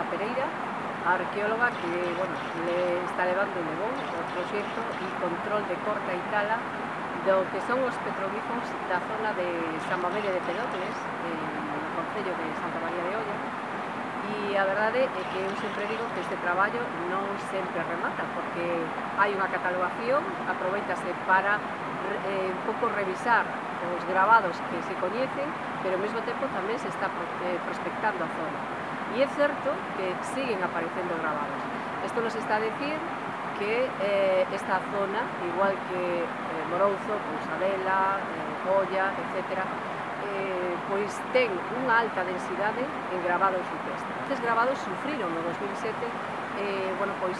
Ana Pereira, a arqueóloga que, bueno, le está levando e levou o proxecto e control de corta e tala do que son os petroglifos da zona de San Mamede de Pedogles, no concello de Santa María de Olla. E a verdade é que eu sempre digo que este traballo non sempre remata, porque hai unha catalogación, aproveitase para un pouco revisar os gravados que se coñecen, pero ao mesmo tempo tamén se está prospectando a zona. E é certo que siguen aparecendo gravados. Isto nos está a decir que esta zona, igual que Morouzo, Pousadela, Olla, etc., pois ten unha alta densidade en gravados rupestres. Estes gravados sufriron no 2007, bueno, pois,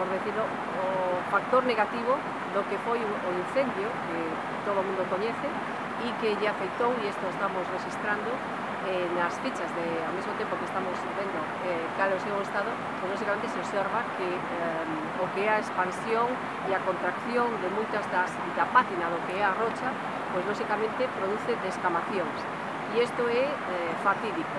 por decirlo, o factor negativo do que foi o incendio que todo o mundo coñece e que lle afectou, e isto estamos registrando nas fichas ao mesmo tempo que estamos vendo cal é o seu estado, pois lógicamente se observa que o que é a expansión e a contracción de moitas da pátina do que é a rocha, pois lógicamente produce descamacións, e isto é fatídico.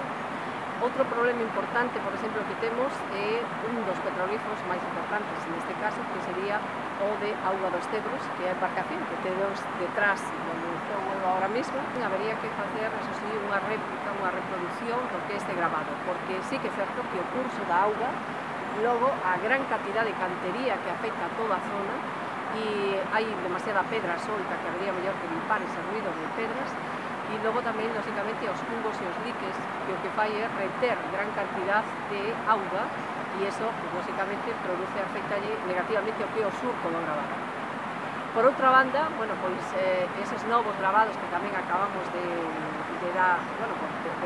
Outro problema importante, por exemplo, que temos é un dos petroglifos máis importantes neste caso, que sería o de Auga dos Cedros, que é a embarcación que temos detrás onde estou agora mesmo. Habería que facer, eso sí, unha réplica, unha reproducción do que é este grabado, porque sí que é certo que o curso da auga, logo a gran cantidad de cantería que afecta a toda a zona, e hai demasiada pedra solta que habría mellor que limpar ese ruido de pedras, e logo tamén, lógicamente, os fungos e os liques, que o que fai é reter gran cantidad de auga, e iso, lógicamente, produce, afectalle negativamente o que é o surco do gravado. Por outra banda, bueno, pois, eses novos gravados que tamén acabamos de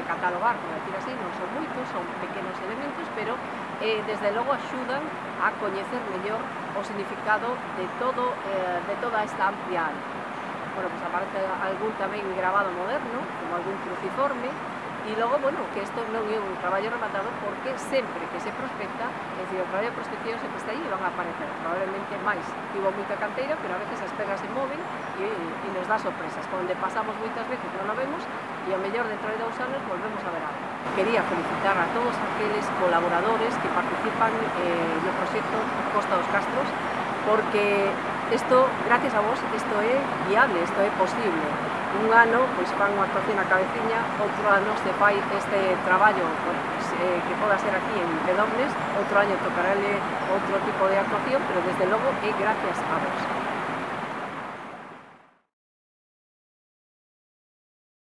catalogar, por decir así, non son moitos, son pequenos elementos, pero desde logo axudan a coñecer mellor o significado de toda esta amplia área. Bueno, pues aparece algún tamén grabado moderno, como algún cruciforme, e logo, bueno, que isto non é un traballo rematado porque sempre que se prospecta, é dicir, o traballo de prospección sempre está aí e van a aparecer, probablemente máis. Tivo moita canteira, pero a veces as pedras se moven e nos dá sorpresas. Onde pasamos moitas veces non o vemos e ao mellor dentro de 2 anos volvemos a ver algo. Quería felicitar a todos aqueles colaboradores que participan no proxecto Costa dos Castros, porque isto, gracias a vos, isto é viable, isto é posible. Un ano, pois, fan unha actuación na Cabeciña, outro ano se fai este traballo, pois, que poda ser aquí en Pedogles, outro ano tocarale outro tipo de actuación, pero desde logo é gracias a vos.